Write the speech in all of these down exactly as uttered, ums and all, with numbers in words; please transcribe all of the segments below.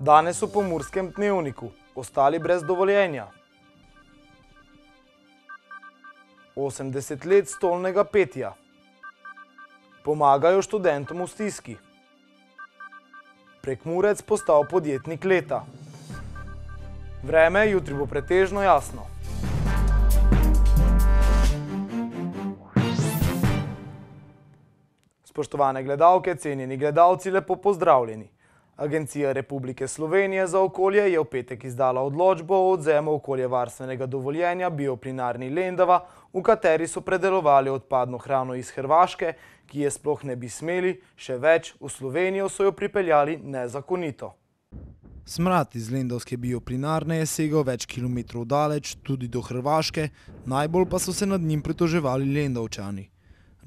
Danes v Pomurskem dnevniku ostali brez dovoljenja. osemdeset let stolnega petja. Pomagajo študentom v stiski. Prekmurec postal podjetnik leta. Vreme jutri bo pretežno jasno. Spoštovane gledalke, cenjeni gledalci, lepo pozdravljeni. Agencija Republike Slovenije za okolje je v petek izdala odločbo o odvzemu okoljevarstvenega dovoljenja bioplinarni Lendava, v kateri so predelovali odpadno hrano iz Hrvaške, ki je sploh ne bi smeli, še več, v Slovenijo so jo pripeljali nezakonito. Smrad iz lendavske bioplinarne je segal več kilometrov daleč, tudi do Hrvaške, najbolj pa so se nad njim pritoževali Lendavčani.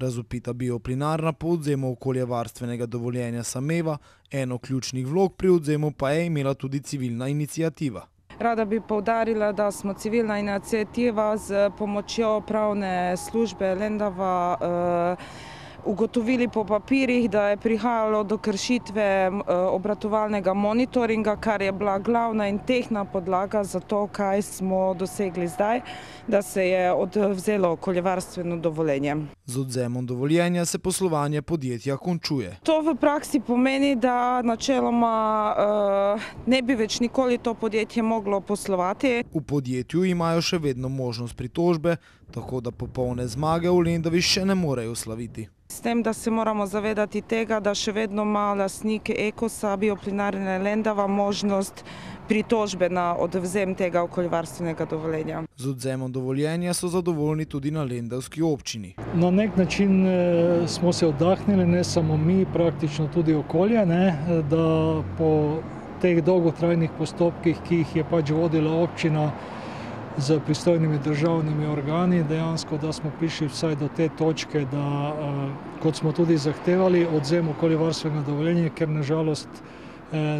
Razvpita bioplinarna po odvzemu okoljevarstvenega dovoljenja sameva, eno ključnih vlog pri odvzemu pa je imela tudi civilna iniciativa. Rada bi poudarila, da smo civilna iniciativa z pomočjo pravne službe Lendava eh, ugotovili po papirjih, da je prihajalo do kršitve obratovalnega monitoringa, kar je bila glavna in tehtna podlaga za to, kaj smo dosegli zdaj, da se je odvzelo okoljevarstveno dovoljenje. Z odvzemom dovoljenja se poslovanje podjetja končuje. To v praksi pomeni, da načeloma uh, ne bi več nikoli to podjetje moglo poslovati. V podjetju imajo še vedno možnost pritožbe, tako da popolne zmage v Lendavi še ne morejo slaviti. S tem, da se moramo zavedati tega, da še vedno ima lastnik Ekosa bioplinarne Lendava možnost pritožbe na odvzem tega okoljevarstvenega dovoljenja. Z odvzemom dovoljenja so zadovoljni tudi na lendavski občini. Na nek način smo se oddahnili, ne samo mi, praktično tudi okolje, ne, da po teh dolgotrajnih postopkih, ki jih je pač vodila občina z pristojnimi državnimi organi, dejansko, da smo prišli vsaj do te točke, da, kot smo tudi zahtevali, odvzem okoljevarstvenega dovoljenja, ker nažalost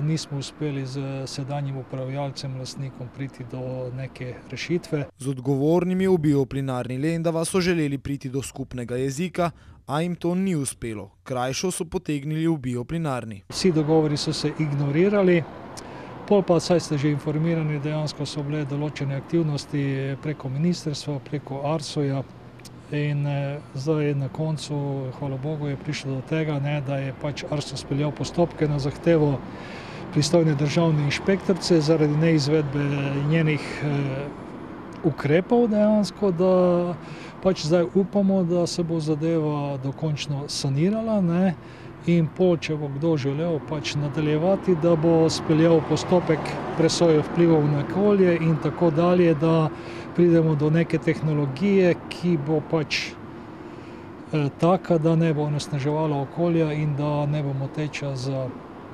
nismo uspeli z sedanjim upravljalcem, lastnikom priti do neke rešitve. Z odgovornimi v bioplinarni Lendava so želeli priti do skupnega jezika, a jim to ni uspelo. Krajšo so potegnili v bioplinarni. Vsi dogovori so se ignorirali. Pol pa, saj ste že informirani, dejansko so bile določene aktivnosti preko ministrstva, preko Arsoja in eh, zdaj na koncu, hvala Bogu, je prišlo do tega, ne, da je pač Arso speljal postopke na zahtevo pristojne državne inšpektorice zaradi neizvedbe njenih eh, ukrepov dejansko, da pač zdaj upamo, da se bo zadeva dokončno sanirala, ne, in pol, če bo kdo želel pač nadaljevati, da bo speljal postopek presoje vplivov na okolje in tako dalje, da pridemo do neke tehnologije, ki bo pač eh, taka, da ne bo onesnaževala okolja in da ne bo moteča za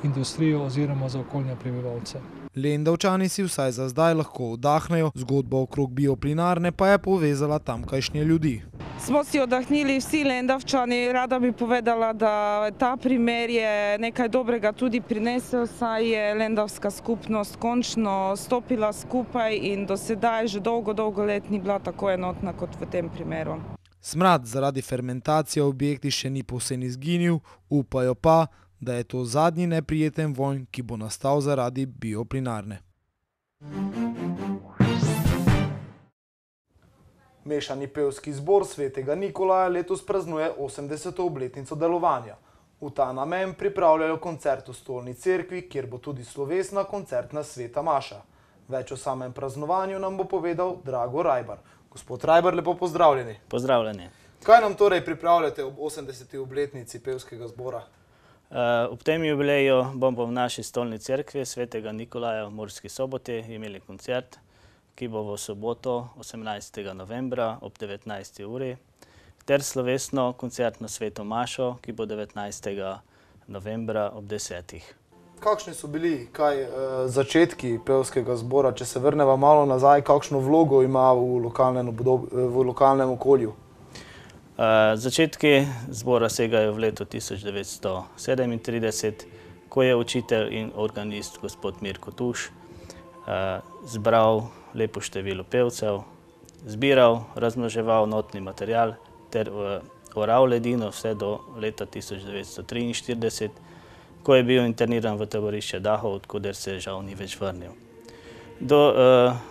industrijo oziroma za okoljne prebivalce. Lendavčani si vsaj za zdaj lahko oddahnejo, zgodba okrog bioplinarne pa je povezala tamkajšnje ljudi. Smo si oddahnili vsi Lendavčani, rada bi povedala, da ta primer je nekaj dobrega tudi prinesel, saj je lendavska skupnost končno stopila skupaj in do sedaj že dolgo, dolgo let ni bila tako enotna kot v tem primeru. Smrad zaradi fermentacije v objekti še ni povsem izginil, upajo pa, da je to zadnji neprijeten vonj, ki bo nastal zaradi bioplinarne. Mešani pevski zbor Svetega Nikolaja letos praznuje osemdeseto obletnico delovanja. V ta namen pripravljajo koncert v Stolni cerkvi, kjer bo tudi slovesna koncertna sveta maša. Več o samem praznovanju nam bo povedal Drago Rajbar. Gospod Rajbar, lepo pozdravljeni. Pozdravljeni. Kaj nam torej pripravljate ob osemdeseti obletnici pevskega zbora? Ob tem jubileju bomo v naši Stolni cerkvi Svetega Nikolaja v Murski Soboti imeli koncert, ki bo v soboto osemnajstega novembra ob devetnajsti uri, ter slovesno koncertno sveto mašo, ki bo devetnajstega novembra ob desetih. Kakšni so bili kaj začetki pevskega zbora, če se vrneva malo nazaj, kakšno vlogo ima v lokalnem, v lokalnem okolju? Začetki zbora segajo v leto tisoč devetsto sedemintrideset, ko je učitelj in organist gospod Mirko Tuš zbral lepo število pevcev, zbiral, razmnoževal notni material ter oral ledino vse do leta tisoč devetsto triinštirideset, ko je bil interniran v taborišče Dachau, odkuder se žal ni več vrnil. Do,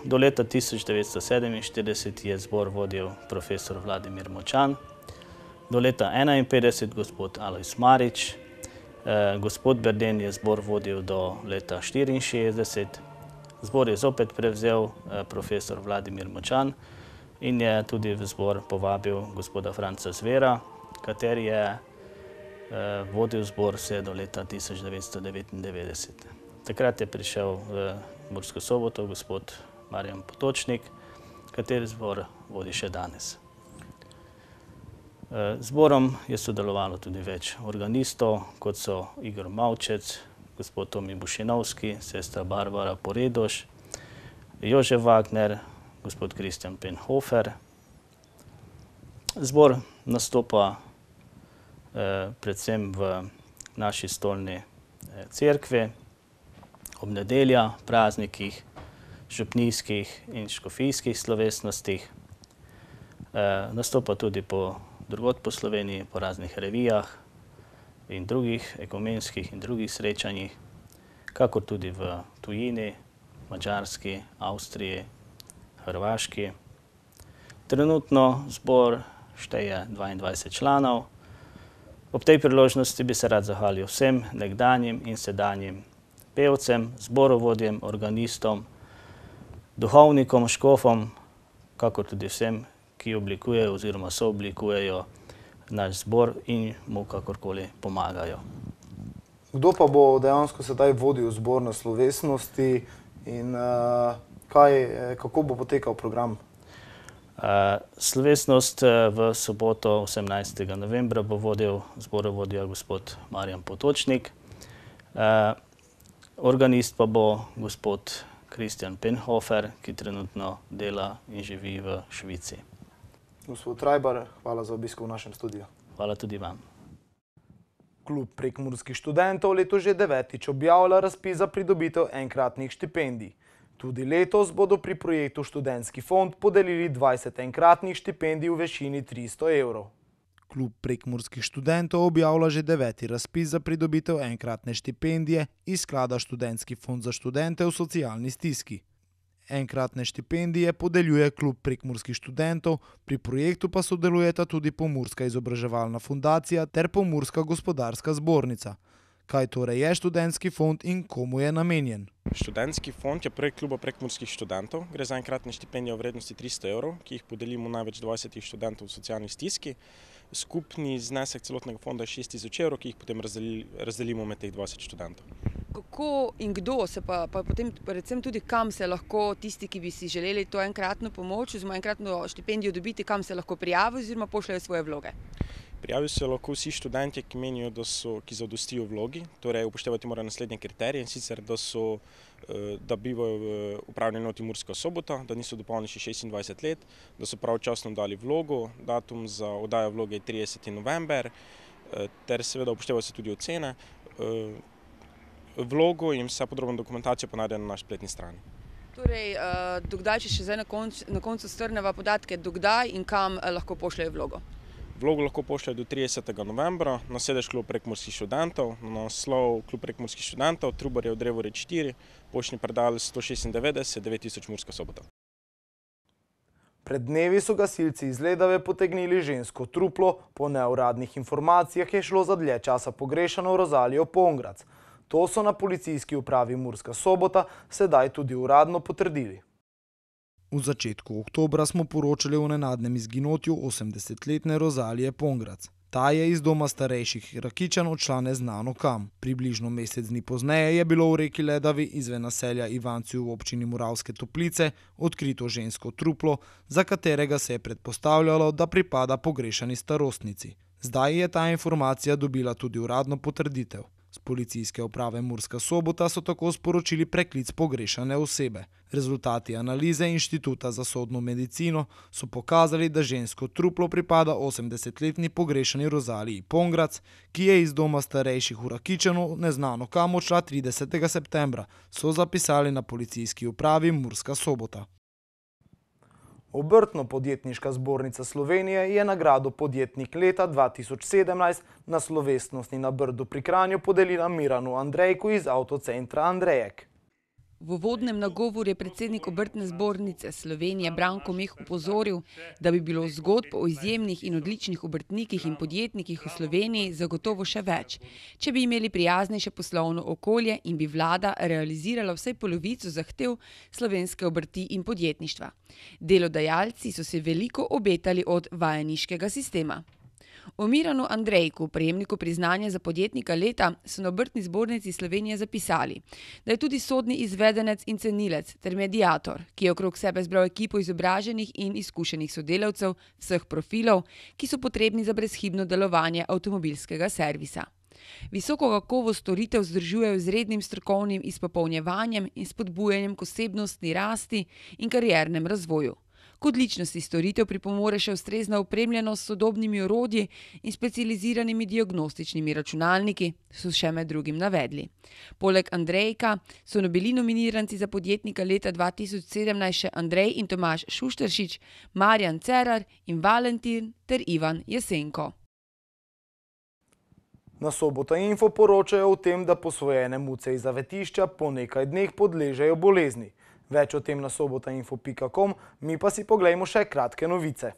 do leta tisoč devetsto sedeminštirideset je zbor vodil profesor Vladimir Močan, do leta enainpetdeset gospod Alojz Marič, gospod Berden je zbor vodil do leta štiriinšestdeset, zbor je zopet prevzel profesor Vladimir Močan in je tudi v zbor povabil gospoda Franca Zvera, kateri je vodil zbor vse do leta tisoč devetsto devetindevetdeset. Takrat je prišel v Mursko Soboto gospod Marjan Potočnik, kateri zbor vodi še danes. Zborom je sodelovalo tudi več organistov, kot so Igor Mavčec, gospod Tomi Bušinovski, sestra Barbara Poredoš, Jožef Wagner, gospod Kristjan Penhofer. Zbor nastopa predvsem v naši stolni cerkvi, ob nedeljah, praznikih, župnijskih in škofijskih slovesnostih. Nastopa tudi po drugod po Sloveniji, po raznih revijah in drugih ekumenskih in drugih srečanjih, kakor tudi v tujini, Madžarski, Avstriji, Hrvaški. Trenutno zbor šteje dvaindvajset članov. Ob tej priložnosti bi se rad zahvalil vsem nekdanjim in sedanjim pevcem, zborovodjem, organistom, duhovnikom, škofom, kakor tudi vsem, ki oblikujejo oziroma sooblikujejo naš zbor in mu kakorkoli pomagajo. Kdo pa bo dejansko sedaj vodil zbor na slovesnosti in uh, kaj, kako bo potekal program? Uh, slovesnost v soboto osemnajstega novembra bo vodil zborovodja gospod Marjan Potočnik. Uh, organist pa bo gospod Kristjan Penhofer, ki trenutno dela in živi v Švici. Gospod Rajbar, hvala za obisk v našem studiu. Hvala tudi vam. Klub prekmurskih študentov letos že devetič objavlja razpis za pridobitev enkratnih štipendij. Tudi letos bodo pri projektu Študentski fond podelili dvajset enkratnih štipendij v višini tristo evrov. Klub prekmurskih študentov objavlja že deveti razpis za pridobitev enkratne štipendije iz sklada Študentski fond za študente v socialni stiski. Enkratne štipendije podeljuje klub prekmurskih študentov, pri projektu pa sodelujeta tudi Pomurska izobraževalna fundacija ter Pomurska gospodarska zbornica. Kaj torej je Študentski fond in komu je namenjen? Študentski fond je projekt kluba prekmurskih študentov. Gre za enkratne štipendije v vrednosti tristo evrov, ki jih podelimo največ dvajsetih študentov v socialni stiski. Skupni znesek celotnega fonda je šest tisoč evrov, ki jih potem razdelimo med teh dvajset študentov. Kako in kdo se pa, pa potem predvsem tudi kam se lahko tisti, ki bi si želeli to enkratno pomoč oziroma enkratno štipendijo dobiti, kam se lahko prijavijo oziroma pošljajo svoje vloge? Prijavijo se lahko vsi študentje, ki menijo, da so, ki zadostijo vlogi, torej upoštevati morajo naslednje kriterije, in sicer, da so, da bivajo v upravni enoti Murska Sobota, da niso dopolnili še šestindvajset let, da so pravočasno dali vlogo, datum za oddajo vloge je trideseti november, ter seveda upoštevajo se tudi ocene. Vlogo in vsa podrobna dokumentacija pa najde na naši spletni strani. Torej, dokdaj, če še zdaj na koncu, na koncu strneva podatke, dokdaj in kam lahko pošljajo vlogo? Vlogo lahko pošljajo do tridesetega novembra na sedež klub prekmurskih študentov, na naslov klub prekmurskih študentov, Trubarjev drevored štiri, poštni predal sto šestindevetdeset devet tisoč Murska Sobota. Pred dnevi so gasilci iz Ledave potegnili žensko truplo, po neuradnih informacijah je šlo za dlje časa pogrešano Rozalijo Pongrac. To so na policijski upravi Murska Sobota sedaj tudi uradno potrdili. V začetku oktobra smo poročali o nenadnem izginotju osemdesetletne Rozalije Pongrac. Ta je iz doma starejših Rakičanov odšla neznano kam. Približno mesec dni pozneje je bilo v reki Ledavi izven naselja Ivanci v občini Moravske Toplice odkrito žensko truplo, za katerega se je predpostavljalo, da pripada pogrešani starostnici. Zdaj je ta informacija dobila tudi uradno potrditev. Z policijske uprave Murska Sobota so tako sporočili preklic pogrešane osebe. Rezultati analize Inštituta za sodno medicino so pokazali, da žensko truplo pripada osemdesetletni pogrešani Rozaliji Pongrac, ki je iz doma starejših v Rakičanu neznano kam odšla tridesetega septembra, so zapisali na policijski upravi Murska Sobota. Obrtno-podjetniška zbornica Slovenije je nagrado Podjetnik leta dva tisoč sedemnajst na slovesnosti na Brdu pri Kranju podelila Miranu Andrejku iz Avtocentra Andrejek. V uvodnem nagovoru je predsednik Obrtne zbornice Slovenije Branko Meh opozoril, da bi bilo zgodb o izjemnih in odličnih obrtnikih in podjetnikih v Sloveniji zagotovo še več, če bi imeli prijaznejše poslovno okolje in bi vlada realizirala vsaj polovico zahtev slovenske obrti in podjetništva. Delodajalci so se veliko obetali od vajeniškega sistema. O Miranu Andrejku, prejemniku priznanja za podjetnika leta, so na Obrtni zbornici Slovenije zapisali, da je tudi sodni izvedenec in cenilec ter mediator, ki je okrog sebe zbral ekipo izobraženih in izkušenih sodelavcev vseh profilov, ki so potrebni za brezhibno delovanje avtomobilskega servisa. Visoko kakovost storitev vzdržujejo z rednim strokovnim izpopolnjevanjem in spodbujanjem k osebnostni rasti in kariernem razvoju. K odličnosti storitev pripomore še ustrezna opremljenost s sodobnimi orodji in specializiranimi diagnostičnimi računalniki, so še med drugim navedli. Poleg Andrejka so bili nominiranci za podjetnika leta dva tisoč sedemnajst še Andrej in Tomaž Šušteršič, Marjan Cerar in Valentin ter Ivan Jesenko. Na Sobota Info poročajo o tem, da posvojene muce iz zavetišča po nekaj dneh podležejo bolezni. Več o tem na sobotainfo pika com, mi pa si poglejmo še kratke novice.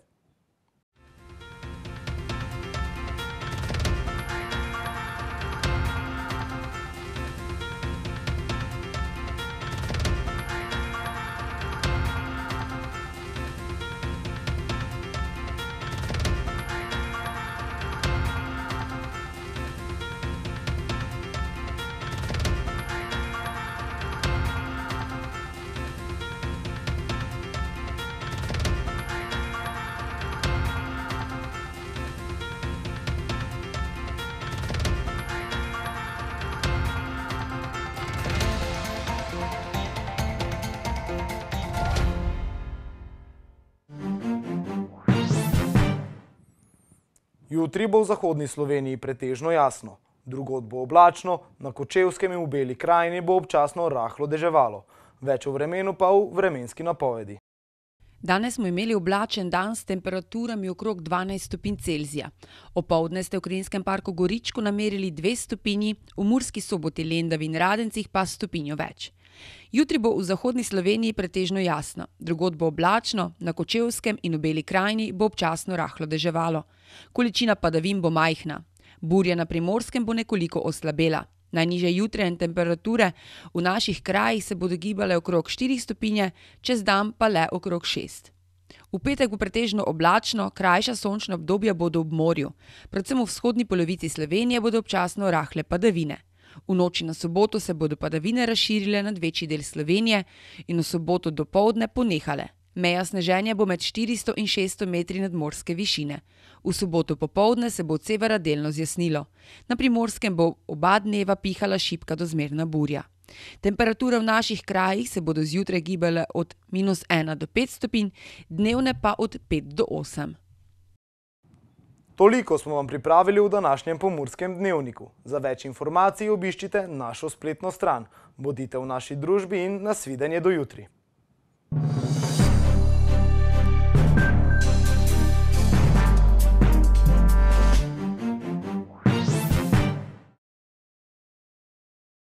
Jutri bo v zahodni Sloveniji pretežno jasno, drugod bo oblačno, na Kočevskem in v Beli krajini bo občasno rahlo deževalo. Več o vremenu pa v vremenski napovedi. Danes smo imeli oblačen dan s temperaturami okrog dvanajst stopinj Celzija. Opoldne ste v Krinskem parku Goričko namerili dve stopinji, v Murski Soboti, Lendavi in Radencih pa stopinjo več. Jutri bo v zahodni Sloveniji pretežno jasno, drugod bo oblačno, na Kočevskem in v Beli krajini bo občasno rahlo deževalo. Količina padavin bo majhna. Burja na Primorskem bo nekoliko oslabela. Najnižje jutranje temperature v naših krajih se bodo gibale okrog štiri stopinje, čez dan pa le okrog šest. V petek bo pretežno oblačno, krajša sončna obdobja bodo ob morju. Predvsem v vzhodni polovici Slovenije bodo občasno rahle padavine. V noči na soboto se bodo padavine razširile nad večji del Slovenije in v soboto dopoldne ponehale. Meja sneženja bo med štiristo in šeststo metri nadmorske višine. V soboto popoldne se bo od severa delno zjasnilo. Na Primorskem bo oba dneva pihala šibka do zmerna burja. Temperature v naših krajih se bodo zjutraj gibale od minus ena do pet stopinj, dnevne pa od pet do osem. Toliko smo vam pripravili v današnjem Pomurskem dnevniku. Za več informacij obiščite našo spletno stran. Bodite v naši družbi in nasvidenje do jutri.